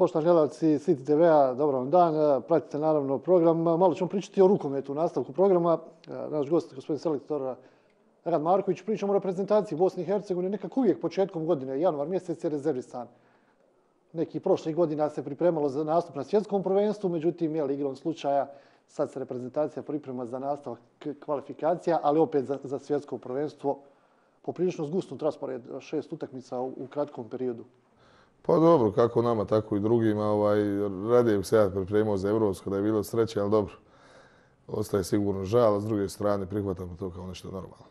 Poštovani gledalci City TV-a, dobar vam dan. Pratite naravno program. Malo ćemo pričati o rukometu u nastavku programa. Naš gost, gospodin selektor Rad Marković, pričamo o reprezentaciji Bosne i Hercegovine. Nekako uvijek početkom godine, januar mjesec je rezervisan. Nekih prošlih godina se pripremalo za nastup na svjetskom prvenstvu, međutim, igrom slučaja sad se reprezentacija priprema za nastavak kvalifikacija, ali opet za svjetsko prvenstvo. Poprilično zgusnut raspored 6 utakmica u kratkom periodu. Pa dobro, kako nama, tako i drugima. Radije bih se ja pripremao za Evropsko, da je bilo sreće, ali dobro. Ostaje sigurno žal, a s druge strane prihvatamo to kao nešto normalno.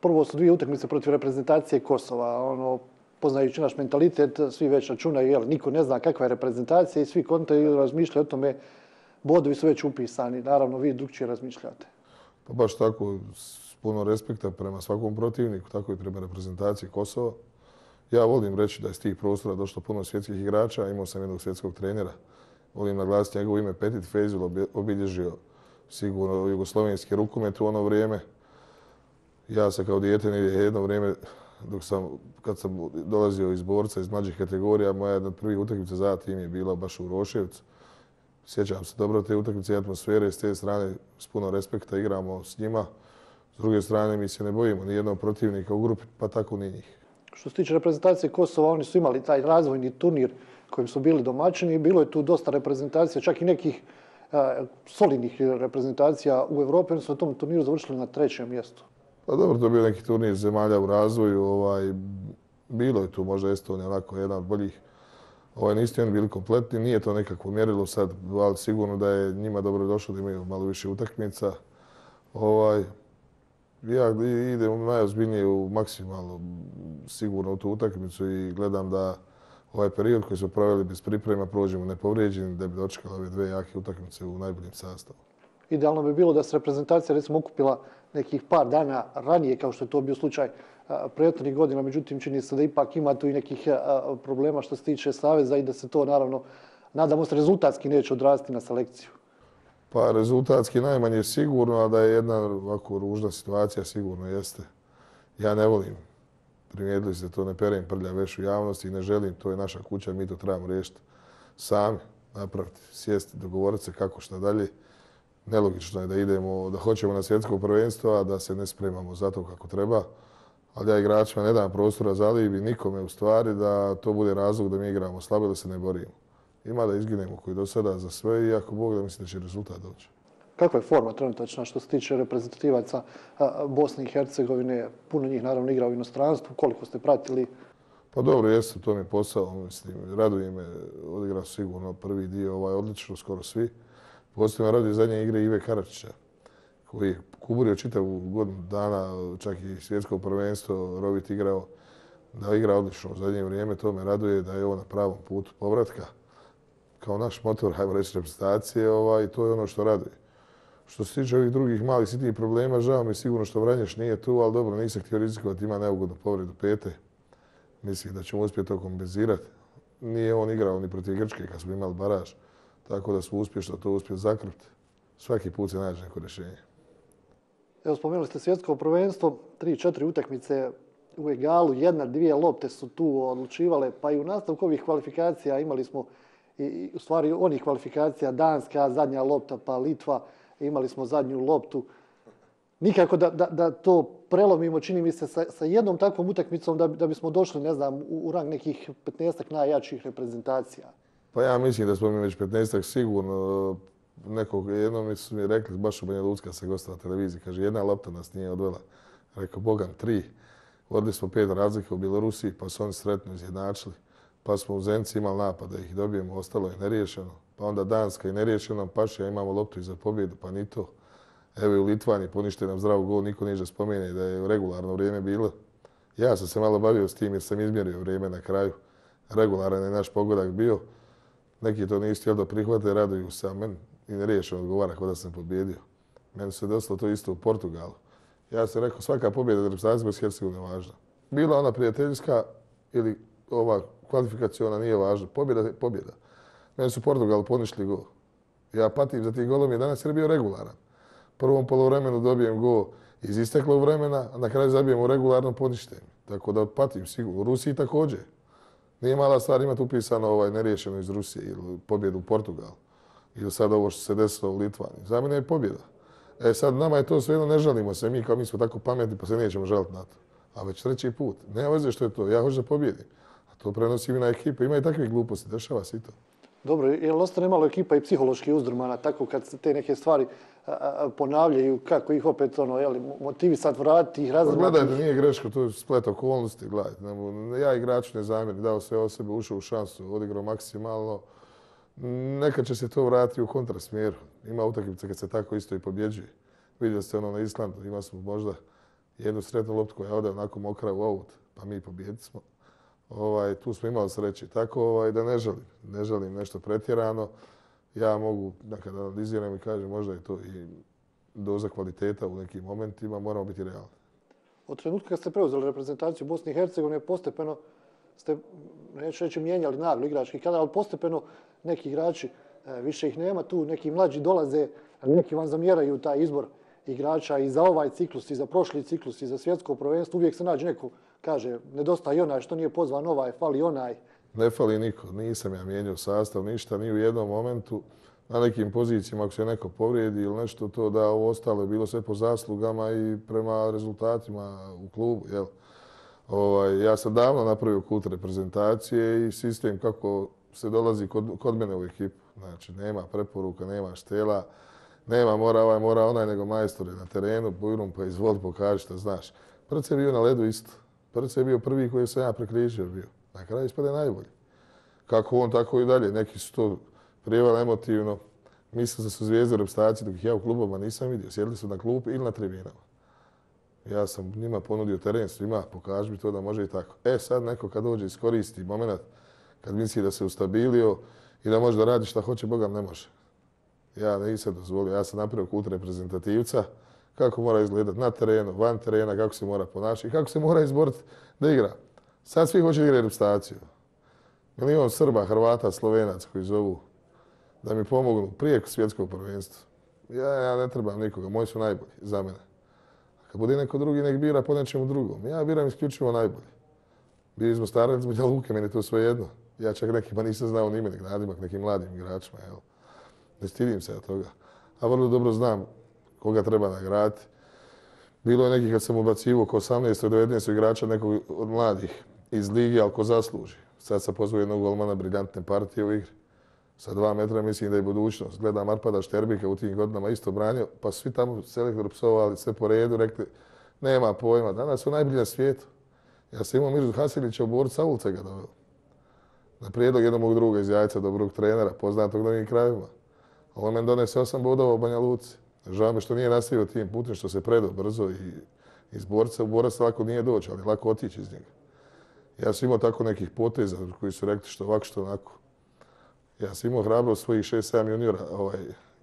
Prvo su 2 utakmice protiv reprezentacije Kosova. Poznajući naš mentalitet, svi već računaju, niko ne zna kakva je reprezentacija i svi kontaju razmišljaju o tome, bodovi su već upisani. Naravno, vi drugčije razmišljate. Pa baš tako, s puno respekta prema svakom protivniku, tako i prema reprezentaciji Kosova. Ja volim reći da je iz tih prostora došlo puno svjetskih igrača, imao sam jednog svjetskog trenera. Volim naglasiti njegovo ime, Petit Fejzul, obilježio sigurno jugoslovenski rukomet u ono vrijeme. Ja sam kao dijete jedno vrijeme, kad sam dolazio iz borca, iz mlađih kategorija, moja jedna od prvih utakmica za tim je bila baš u Roševcu. Sjećam se dobro te utakmice i atmosfere, s te strane s puno respekta igramo s njima. S druge strane mi se ne bojimo ni jednog protivnika u grupi, pa tako ni njih. Što se tiče reprezentacije Kosova, oni su imali taj razvojni turnir kojim su bili domaćini i bilo je tu dosta reprezentacija, čak i nekih solidnih reprezentacija u Evropi. Oni su na tom turniru završili na 3. mjestu. Pa dobro, to je bio neki turnir zemalja u razvoju. Bilo je tu možda Estonija, onako jedan od boljih. Nisu oni bili kompletni, nije to nekako mjerilo sad, ali sigurno da je njima dobro došlo da imaju malo više utakmica. Ja idem najozbiljnije u maksimalno sigurno u tu utakmicu i gledam da ovaj period koji smo proveli bez priprema prođemo nepovrijeđeni, da bi dočekali ove 2 jake utakmice u najboljem sastavu. Idealno bi bilo da se reprezentacija recimo okupila nekih par dana ranije, kao što je to bio slučaj prethodnih godina. Međutim, čini se da ipak ima tu i nekih problema što se tiče saveza i da se to, naravno, nadamo se, rezultatski neće odraziti na selekciju. Pa rezultatski najmanje sigurno, a da je jedna ovako ružna situacija sigurno jeste. Ja ne volim, primijetili ste to, ne perem prlja veš u javnosti i ne želim, to je naša kuća, mi to trebamo riješiti sami, napraviti, sjesti, dogovoriti se kako šta dalje. Nelogično je da idemo, da hoćemo na svjetsko prvenstvo, a da se ne spremamo za to kako treba. Ali ja igračima ne dam prostora za alibi nikome u stvari da to bude razlog da mi igramo slabo, da se ne borimo. Ima da izginemo koji do sada za sve i ako Bog da mislim da će rezultat doći. Kakva je forma trenutačna što se tiče reprezentativaca Bosne i Hercegovine? Puno njih naravno igra u inostranstvu. Koliko ste pratili? Pa dobro, jesam, to mi je posao. Raduje me, odigrao sigurno prvi dio, odlično, skoro svi. Posebno raduje zadnje igre Ive Karačića, koji je kuburio čitavu godinu dana, čak i svjetsko prvenstvo, Rovit igrao, da igra odlično u zadnje vrijeme. To me raduje da je ovo na pravom putu povratka. Kao naš motor, hajmo reći, reprezentacije i to je ono što raduje. Što se tiče ovih drugih malih sitnih problema, žao mi je sigurno što Vranješ nije tu, ali dobro, nisam htio rizikovati, ima neugodnu povredu pete. Mislim da ćemo uspjeti to kompenzirati. Nije on igrao ni protiv Grčke kad smo imali baraž, tako da smo uspješno to uspjeli zakrpiti. Svaki put se nađe neko rješenje. Evo, spomenuli ste svjetsko prvenstvo, 3-4 utakmice u egalu, 1-2 lopte su tu odlučivale, pa i u nastavku ovih kvalifikacija imali smo i u stvari onih kvalifikacija Danska, zadnja lopta, pa Litva, imali smo zadnju loptu. Nikako da to prelomimo, čini mi se, sa jednom takvom utakmicom da bismo došli, ne znam, u rang nekih 15-ak najjačih reprezentacija. Pa ja mislim da smo mi već 15-ak sigurno. Jednom su mi rekli, baš u Banja Lučka se gostala na televiziji, kaže, jedna lopta nas nije odvela. Rekao, Bogam, 3. Vodili smo 5 razlika u Bjelorusiji, pa su oni sretno izjednačili. Pa smo u Zenci imali napad da ih dobijemo, ostalo je neriješeno. Pa onda Danska i neriješeno, Pašija imamo loptu i za pobjedu, pa ni to. Evo i u Litvani ponište nam zdrav gol, niko niže spomene da je regularno vrijeme bilo. Ja sam se malo bavio s tim jer sam izmjerio vrijeme na kraju. Regularan je naš pogodak bio. Neki to nisu htjeli da prihvate, raduju se, a meni i neriješeno odgovara kao da sam pobjedio. Meni se desilo to isto u Portugalu. Ja sam rekao, svaka pobjeda za reprezentaciju Bosne i Hercegovine je važna. Bila ona prijateljska ili ova kvalifikaciona nije važna. Pobjeda je pobjeda. Meni su Portugalu poništili gol. Ja patim za tih golom 11 jer je bio regularan. Prvom polovremenu dobijem gol iz isteklog vremena, a na kraju zabijem u regularnom poništenju. Tako da patim sigurno. U Rusiji također. Nije mala stvar imati upisano neriješeno iz Rusije ili pobjedu u Portugalu. Ili sad ovo što se desilo u Litvaniji. Za mene je pobjeda. Sad nama je to svejedno, ne žalimo se. Mi smo tako pametni pa se nećemo žaliti na to. A već treći put. Nema veze što je to. Ja hoću da pobjedim. A to prenosim i na ekipu. Ima i takvih gluposti. Dešava se i to. Dobro, je li ostane malo ekipa i psihološki uzdrmana tako kad se te neke stvari ponavljaju, kako ih opet motivisati, vratiti ih, razumjeti? Gledajte, nije greško, to je splet okolnosti. Gledajte, ja igraču ne zamjerim, dao sve o sebe, ušao u šansu, odigrao maksimalno. Nekad će se to vratiti u kontrasmjeru. Ima utakmice kad se tako isto i pobjeđuje. Vidjeli ste na Islandu, ima smo možda jednu sretnu loptu koja ode onako mokra u aut, pa mi pobjedili smo. Tu smo imali sreće. Tako da ne želim nešto pretjerano. Ja mogu, kad analiziram i kažem, možda je to i doza kvaliteta u nekim momentima, moramo biti realni. Od trenutka kad ste preuzeli reprezentaciju Bosne i Hercegovine, postepeno ste, neću reći mijenjali naglo igrački kadar, ali postepeno neki igrači, više ih nema tu, neki mlađi dolaze, neki vam zamjeraju taj izbor igrača i za ovaj ciklus, i za prošli ciklus, i za svjetsko prvenstvo. Uvijek se nađe neko, kaže, nedostaje onaj što nije pozvan ovaj, fali onaj. Ne fali niko, nisam ja mijenjao sastav, ništa, ni u jednom momentu. Na nekim pozicijama, ako se neko povrijedi ili nešto, to da ovo ostalo je bilo sve po zaslugama i prema rezultatima u klubu. Jel? Ja sam davno napravio kut reprezentacije i sistem kako se dolazi kod mene u ekipu. Znači, nema preporuka, nema štela, nema mora onaj, nego majstor je na terenu, bujrum pa izvoli, pokaži šta znaš. Prce je bio na ledu isto. Prce je bio prvi koji sam ja prekrižio bio. Na kraju ispade najbolji. Kako on, tako i dalje. Neki su to prijevali emotivno. Mislim da su zvijezde u reprezentaciji dok ih ja u klubovima nisam vidio. Sjedili su na klupi ili na tribinama. Ja sam njima ponudio teren svima, pokaži mi to da može i tako. Sad neko kad dođe iskoristi moment kad misli da se ustabilio i da može da radi šta hoće, Bogam ne može. Ja nisam dozvolio. Ja sam napravio kut reprezentativca, kako mora izgledati na terenu, van terena, kako se mora ponašati i kako se mora izboriti da igra. Sad svi hoće igrati reprezentaciju. Milion Srba, Hrvata, Slovenaca koji zovu da mi pomognu prije svjetskog prvenstva. Ja ne trebam nikoga, moji su najbolji za mene. Kad bude neko drugi, nek bira po nečemu drugom. Ja biram isključivo najbolji. Bili smo starali iz Banja Luke, meni je to sve jedno. Ja čak nekima nisam znao ni ime, nek nadimak nekim mladim igračima. Jel? Ne stidim se od toga. A vrlo dobro znam koga treba nagraditi. Bilo je nekih kad sam ubacivo oko 18. 19. igrača nekog od mladih iz lige, ali ko zasluži. Sad sam pozvao jednog golmana, briljantne partije u igri. Sa 2 metra mislim da je budućnost. Gledam Arpada Šterbika u tim godinama isto branio, pa svi tamo selektor psovali sve po redu, rekli nema pojma. Danas su najbolji na svijetu. Ja sam imao Mirzu Hasilića u Borcu, Savulce ga doveo. Na prijedlog jednog mog druga iz Jajca, dobrog trenera, poznatog na ovim krajevima. On meni donese 8 bodova u Banja Luci. Žao me što nije nastavio tim putem, što se predao brzo i iz Borca. U Borac lako nije doći, ali lako otići iz njega. Ja sam imao tako nekih poteza koji su rekli što ovako, što onako. Ja sam imao hrabrost svojih 6-7 juniora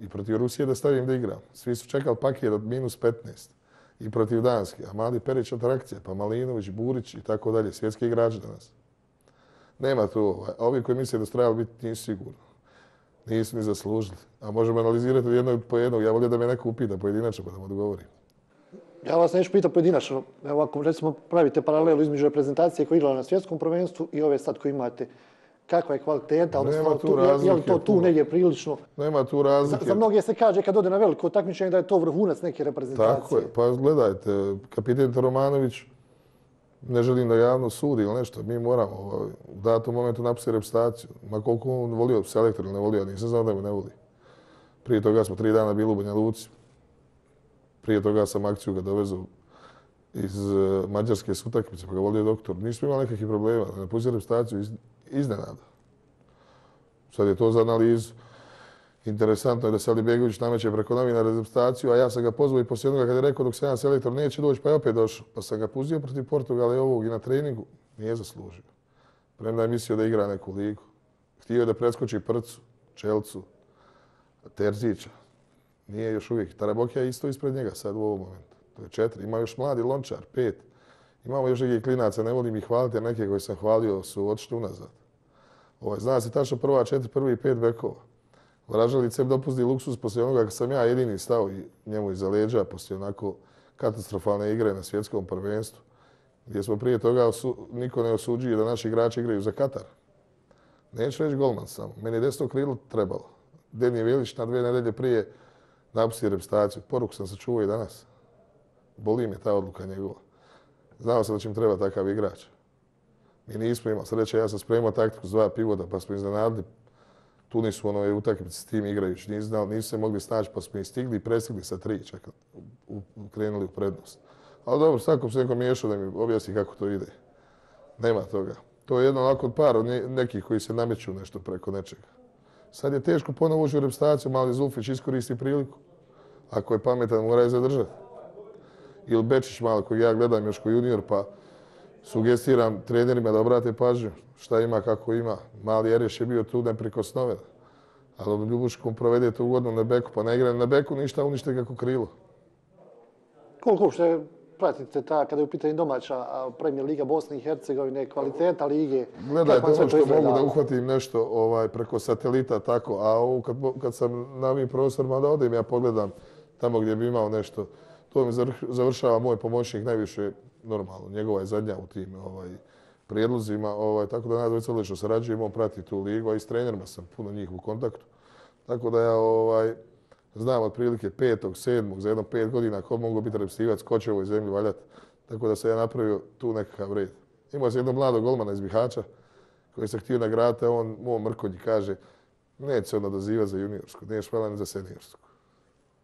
i protiv Rusije da stavim da igram. Svi su čekali paket od -15 i protiv Danske. A mali Perić atrakcija, pa Malinović, Burić i tako dalje. Svjetski igrači danas. Nema tu. A ovi koji misle da su trebali biti nisu sigurno. Nisu ni zaslužili. A možemo analizirati od jednog po jednog. Ja volio da me neko upita pojedinačno pa da mu odgovorim. Ja vas neću pitati pojedinačno. Evo ako recimo pravite paralelu između reprezentacije koja je igrala na svjetskom prvenstvu i ove sad koje imate. Kakva je kvaliteta, odnosno je li to tu negdje prilično? Nema tu razlike. Za mnoge se kaže kad ode na veliko takmičenje da je to vrhunac neke reprezentacije. Tako je. Pa gledajte, kapiten Romanović, ne želim da javno sudi ili nešto. Mi moramo u datom momentu napustiti reprezentaciju. Ma koliko on volio selektor ili ne volio, nisam znao da me ne voli. Prije toga smo 3 dana bili u Banja Luci. Prije toga sam akciju ga dovezao iz mađarske utakmice, pa ga volio doktor. Nismo imali nekakvih problema. Ne napustiti reprezentaciju iznenada. Sad je to za analizu. Interesantno je da se Alibegović nameće preko novina reprezentaciju, a ja sam ga pozvao i poslije onoga kad je rekao dok se jedan selektor neće doći, pa je opet došao. Pa sam ga pustio protiv Portugala i ovog i na treningu. Nije zaslužio. Premda je mislio da igra neku ligu. Htio je da preskoči Prcu, Čelcu, Terzića. Nije još uvijek. Tarabokija je isto ispred njega sad u ovom momentu. To je 4. Ima još mladi Lončar, 5. Imamo još nekih klinaca, ne volim ih hvaliti, jer neke koje sam hvalio su otišli unazad. Zna se tačno prva 4, prvi 5 bekova. Vražalić sebi dopusti luksuz poslije onoga kad sam ja jedini stao njemu iza leđa poslije onako katastrofalne igre na svjetskom prvenstvu. gdje smo prije toga niko ne osuđuje da naši igrači igraju za Katar. Neću reći golman samo. Meni je desno krilo trebalo. Denije Vilić na 2 nedelje prije napustio reprezentaciju. Poruku sam sačuvao i danas. Boli me ta odluka njegova. Znao sam da će mi treba takav igrač. Mi nismo imali sreće, ja sam spremao taktiku s 2 pivota pa smo iznenadili. Tu nisu onove utakmice s tim igrajući. Nisu se mogli snaći pa smo i stigli i prestigli sa 3 čak. Krenuli u prednost. Ali dobro, svakom se neko miješao da mi objasni kako to ide. Nema toga. To je jedno onako od par nekih koji se nameću nešto preko nečega. Sad je teško ponovo ući u reprezentaciju, mali Zulfić iskoristi priliku. Ako je pametan, mora je zadržati. Ili Bečić malo, kojeg ja gledam još ko junior, pa sugestiram trenerima da obrate pažnju šta ima, kako ima. Mali Erješ je bio tu neprikosnoven. Ali on Ljubuškom provede tu godinu na beku, pa ne igra na beku, ništa unište kako krilo. Koliko uopšte pratite kada je u pitanju domaća Premier Liga Bosne i Hercegovine, kvaliteta lige? Gledajte ono što mogu da uhvatim nešto preko satelita, tako, a ovo kad sam na ovim prostorima da odem, ja pogledam tamo gdje bi imao nešto. To mi završava moj pomoćnik najviše normalno. Njegova je zadnja u tim prijedlozima, tako da nas odlično sarađujemo, on prati tu ligu, a i s trenerima sam puno njih u kontaktu. Tako da ja znam otprilike 5., 7. za jedno 5 godina ko mogu biti reprezentativac, ko će u ovoj zemlji valjati. Tako da sam ja napravio tu nekakav red. Imao sam jednog mladog golmana iz Bihaća koji se htio nagraditi, a on mom Mrkonji kaže neće se onda dozivati za juniorsku, niješ valjda ni za seniorsku.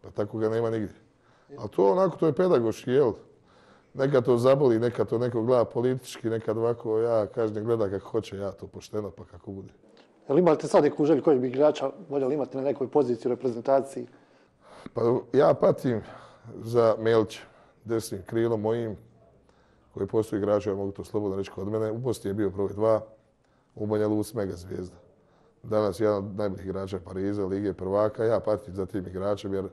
Pa tako ga nema nigdje. Ali to onako, to je pedagoški, jel? Nekad to zaboli, nekad to neko gleda politički, nekad ovako, ja kažem gleda kako hoće, ja to pošteno pa kako bude. Jel imate sad neku želju kojeg bi igrača voljeli imati na nekoj poziciji u reprezentaciji? Pa ja patim za Melića, desnim krilom mojim, koji postoji igrača, ja mogu to slobodno reći kod mene. U Bosni je bio broj 2, u Banja Luci mega zvijezda. Danas je jedan od najboljih igrača Pariza, Lige prvaka. Ja patim za tim igračem jer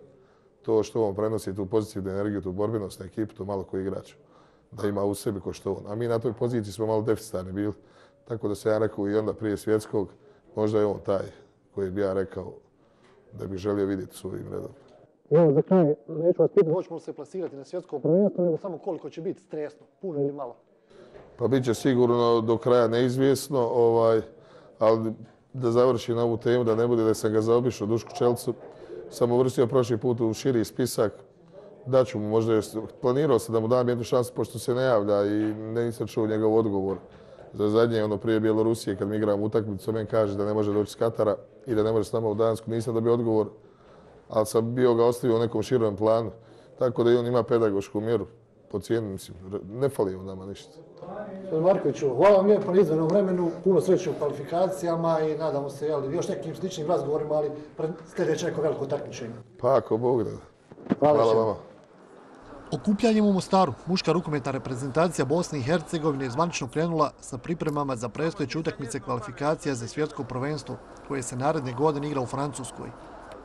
to što on prenosi, tu pozitivnu energiju, tu borbenost na ekipu, to malo koji igrač da ima u sebi ko što on. A mi na toj poziciji smo malo deficitarni bili. Tako da se ja rekao i onda prije svjetskog, možda je on taj koji bi ja rekao da bih želio vidjeti svojim redom. Evo, za kraj, neću vas pitati, hoćemo se plasirati na svjetskom prvenstvu, nego samo koliko će biti stresno, puno ili malo? Pa bit će sigurno do kraja neizvjesno, ali da završim na ovu temu, da ne bude da sam ga zaobišao Dušku Čelcu, sam uvrstio prošli put u širi spisak, daću mu možda, planirao sam da mu dam jednu šansu pošto se ne javlja i nisam čuo njegov odgovor. Za zadnje, prije Bjelorusije, kad mi igramo utakmicu, meni kaže da ne može doći s Katara i da ne može s nama u Dansku. Nisam dobio odgovor, ali sam bio ga ostavio u nekom širom planu. Tako da i on ima pedagošku mjeru. Po cijenu, mislim, ne fali on nama ništa. Markoviću, hvala vam lijepo na izdvojenom vremenu, puno sreće u kvalifikacijama i nadamo se još nekim sličnim razgovorima, ali sljedeće neko veliko takmičenje. Pa ako Bog da. Hvala vama. Okupljanjem u Mostaru, muška rukometna reprezentacija Bosne i Hercegovine je zvanično krenula sa pripremama za predstojeće utakmice kvalifikacija za svjetsko prvenstvo koje se naredne godine igra u Francuskoj.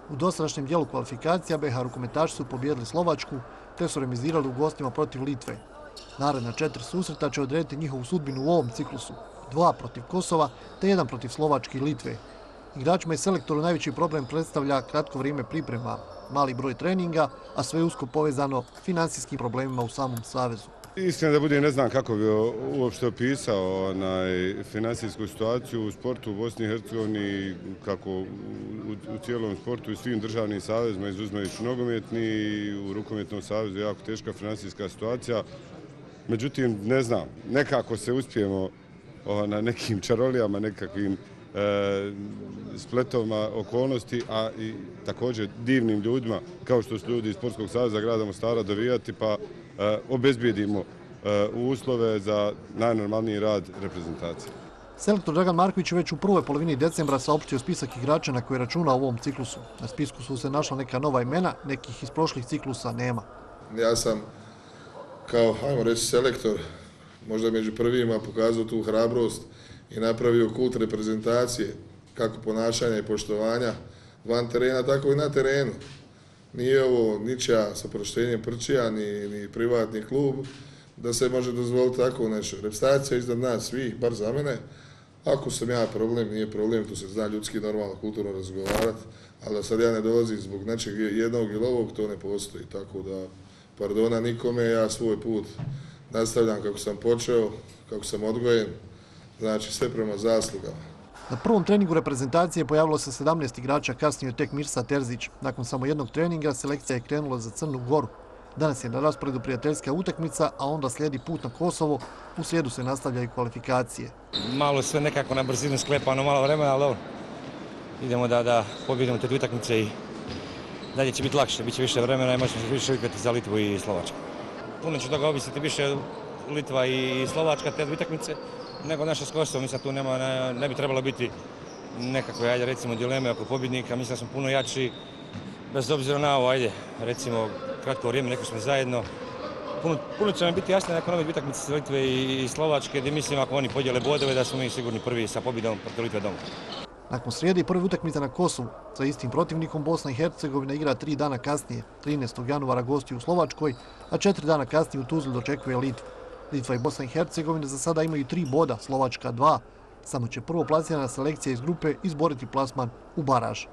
U dosadašnjem dijelu kvalifikacija BiH rukometaši su pobijedili Slovačku te su remizirali u gostima protiv Litve. Naredna 4 susreta će odrediti njihovu sudbinu u ovom ciklusu. 2 protiv Kosova te 1 protiv Slovačke i Litve. Igračima i selektoru najveći problem predstavlja kratko vrijeme priprema, mali broj treninga, a sve usko povezano financijskim problemima u samom savezu. Istina da bude, ne znam kako bi uopšte opisao financijsku situaciju u sportu u Bosni i Hercegovini, kako u cijelom sportu i svim državnim savezima, izuzimajući nogometni i u rukometnom savezu je jako teška financijska situacija. Međutim, ne znam, nekako se uspijemo na nekim čarolijama, nekakvim spletovima okolnosti, a i također divnim ljudima, kao što su ljudi iz Sportskog saveza grada Mostara, dovijati pa obezbijedimo uslove za najnormalniji rad reprezentacije. Selektor Dragan Marković je već u prvoj polovini decembra saopštio spisak igrača na koje računa u ovom ciklusu. Na spisku su se našla neka nova imena, nekih iz prošlih ciklusa nema. Ja sam kao, ajmo reći, selektor, možda među prvima pokazao tu hrabrost i napravio kult reprezentacije, kako ponašanja i poštovanja van terena, tako i na terenu. Nije ovo ničija sa proštenjem prčija, ni privatni klub, da se može dozvoliti tako nešto. Reprezentacija je iznad nas svih, bar za mene. Ako sam ja problem, nije problem, tu se zna ljudski normalno, kulturno razgovarati, ali da sad ja ne dolazim zbog nečeg jednog ili ovog, to ne postoji. Tako da, pardona nikome, ja svoj put nastavljam kako sam počeo, kako sam odgojen, znači sve prema zaslugama. Na prvom treningu reprezentacije pojavilo se 17 igrača, kasnije tek Mirsa Terzić. Nakon samo jednog treninga selekcija je krenula za Crnu Goru. Danas je na rasporedu prijateljska utakmica, a onda slijedi put na Kosovo. U srijedu se nastavljaju kvalifikacije. Malo sve nekako na brzinu sklepano, malo vremena, ali dobro. Idemo da pobjedimo te dvije utakmice i dalje će biti lakše, bit će više vremena i možemo se više igrati za Litvu i Slovačku. Puno će toga ovisiti više Litva i Slovačka te dvije utakmice nego naša s Kosovom. Mislim, tu ne bi trebalo biti nekakve, ajde recimo, dileme oko pobjednika. Mislim da smo puno jači, bez obzira na ovo, ajde, recimo, kratko vrijeme, neko smo zajedno. Puno će nam biti jasno nakon ove dvije utakmice s Litve i Slovačke, gdje mislim ako oni podijele bodove da smo mi sigurni prvi sa pobjedom protiv Litve doma. Nakon srijede i prve utakmice na Kosovu, sa istim protivnikom Bosna i Hercegovina igra 3 dana kasnije. 13. januara gosti u Slovačkoj, a 4 dana kasnije u Tuzli dočekuje Litvu. Litva i Bosna i Hercegovina za sada imaju 3 boda, Slovačka 2. Samo će prvo plasirana selekcija iz grupe izboriti plasman u baraž.